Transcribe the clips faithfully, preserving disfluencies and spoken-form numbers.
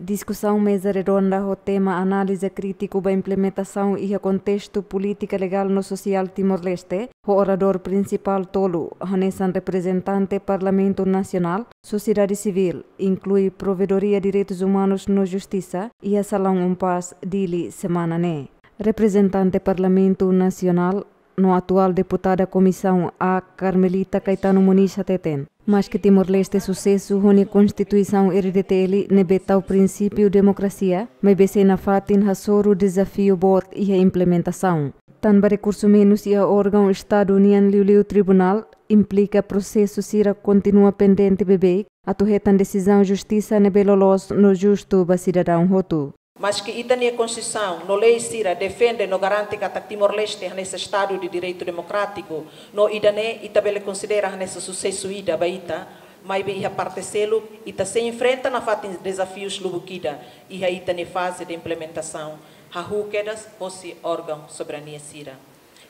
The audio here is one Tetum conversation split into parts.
Diskusaun meza redonda ho tema análize krítiku ba implementasaun iha kontestu polítika legál no sosiál Timor-Leste, ho oradór prinsipál tolu, hanesan reprezentante Parlamentu Nasionál, sosiedade sivíl, inklui Provedoria Direitus Umanus no Justisa, iha Salaun Umpás, Dili, semana ne'e. Reprezentante Parlamentu Nasionál no atuál deputada Komisaun A, Carmelita Caetano Moniz hateten, maske Timor-Leste susesu ho nia Konstituisaun R D T L ne'ebé tau prinsípiu demokrasia, maibé sei nafatin hasoru dezafiu boot iha implementasaun. Tanba rekursu menus iha órgaun Estadu nian, liuliu tribunál, implika prosesu sira kontinua pendente beibeik atu hetan desizaun justisa ne'ebé loloos no justu ba sidadaun hotu. Maske ita-nia Konstituisaun no lei sira defende no garante katak Timor-Leste hanesan Estadu de Direitu Demokrátiku, no ida-ne'e ita bele konsidera hanesan susesu ida ba ita, maibé iha parte seluk ita sei enfrenta nafatin dezafius lubuk ida iha ita-nia faze de implementasaun, hahú kedas hosi órgaun soberania sira.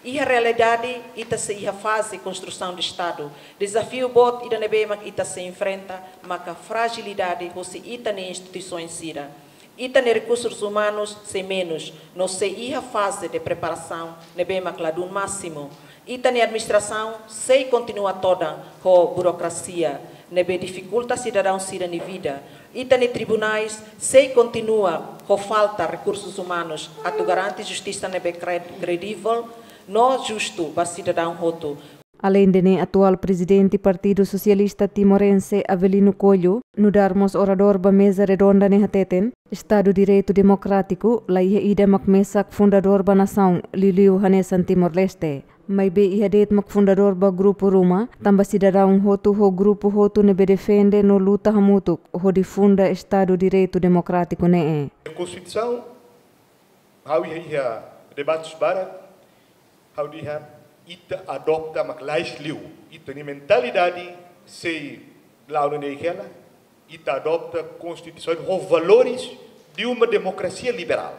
Iha realidade, ita sei iha faze konstrusaun de Estadu. Dezafiu boot ida ne'ebé mak ita sei enfrenta maka frajilidade hosi ita-nia instituisoens sira. Ita-nia rekursus umanus sei menus, no sei iha faze de preparasaun ne'ebé mak ladún másimu. Ita-nia administrasaun sei kontinua todan ho burokrasia ne'ebé difikulta sidadaun sira-nia vida. Ita-nia tribunais sei kontinua ho falta rekursus umanus atu garante justisa ne'ebé kre-, kredivel no justu ba sidadaun hotu. Aleinde ne'e, atuál prezidente Partidu Sosialista Timorense, Avelino Coelho, nu'udar mós oradór ba meza redonda ne'e hateten, Estadu Direitu Demokrátiku laiha ida mak mesak fundadór ba nasaun, liuliu hanesan Timor-Leste. Maibé iha de'it mak fundadór ba grupu ruma, tanba sidadaun hotu ho grupu hotu ne'ebé defende no luta hamutuk hodi funda Estadu Direitu Demokrátiku ne'e. Konstituisaun, ha'u iha, iha debates barak, ha'u dehan ita adopta mak lais liu. Ita-nia mentalidade sei la'o ne'e hela, ita adopta Konstituisaun ho valores de uma democracia liberal.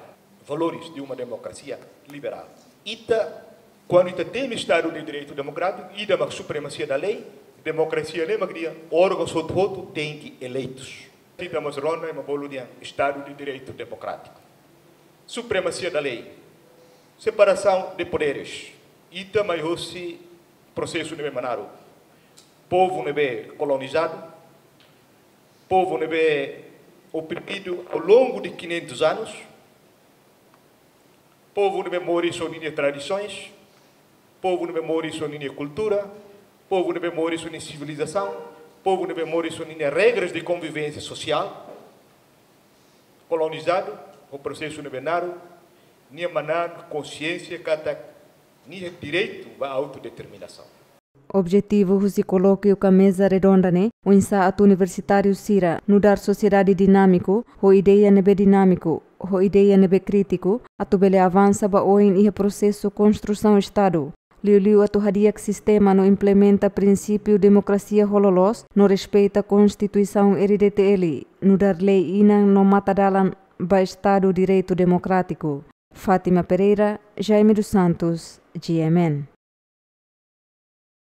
Valores de uma democracia liberal. Ita, kuandu ita temi Estadu de Direitu Demokrátiku, ida mak supremasia da lei, demokrasia ne'e mak dehan órgaun hotu-hotu tenke eleitus. Ita mós rona, ema bolu dehan Estadu de Direitu Demokrátiku. Supremasia da lei. Separasaun de poderes. Ita mai hosi prosesu ne'ebé mak naruk. Povu ne'ebé kolonizadu, povu ne'ebé oprimidu ao longo de quinhentos anos, povu ne'ebé moris ho ninia tradisoens, povu ne'ebé moris ho ninia kultura, povu ne'ebé moris ho ninia sivilizasaun, povu ne'ebé moris ho ninia regras de konvivénsia sosiál, kolonizadu ho prosesu ne'ebé naruk, nia manán konxiénsia katak nia direitu ba autodeterminasaun. Objetivu husi kolókiu ka meza redonda ne'e, oinsá atu universitáriu sira nu'udar sosiedade dinámiku, ho ideia ne'ebé dinámiku, ho ideia ne'ebé krítiku, atu bele avansa ba oin iha prosesu konstrusaun Estadu. Liuliu atu hadi'a sistema no implementa prinsípiu demokrasia ho loloos, no respeita Konstituisaun R D T L, nu'udar lei inan no matadalan ba Estadu Direitu Demokrátiku. Fátima Pereira, Jaime dos Santos, G M N.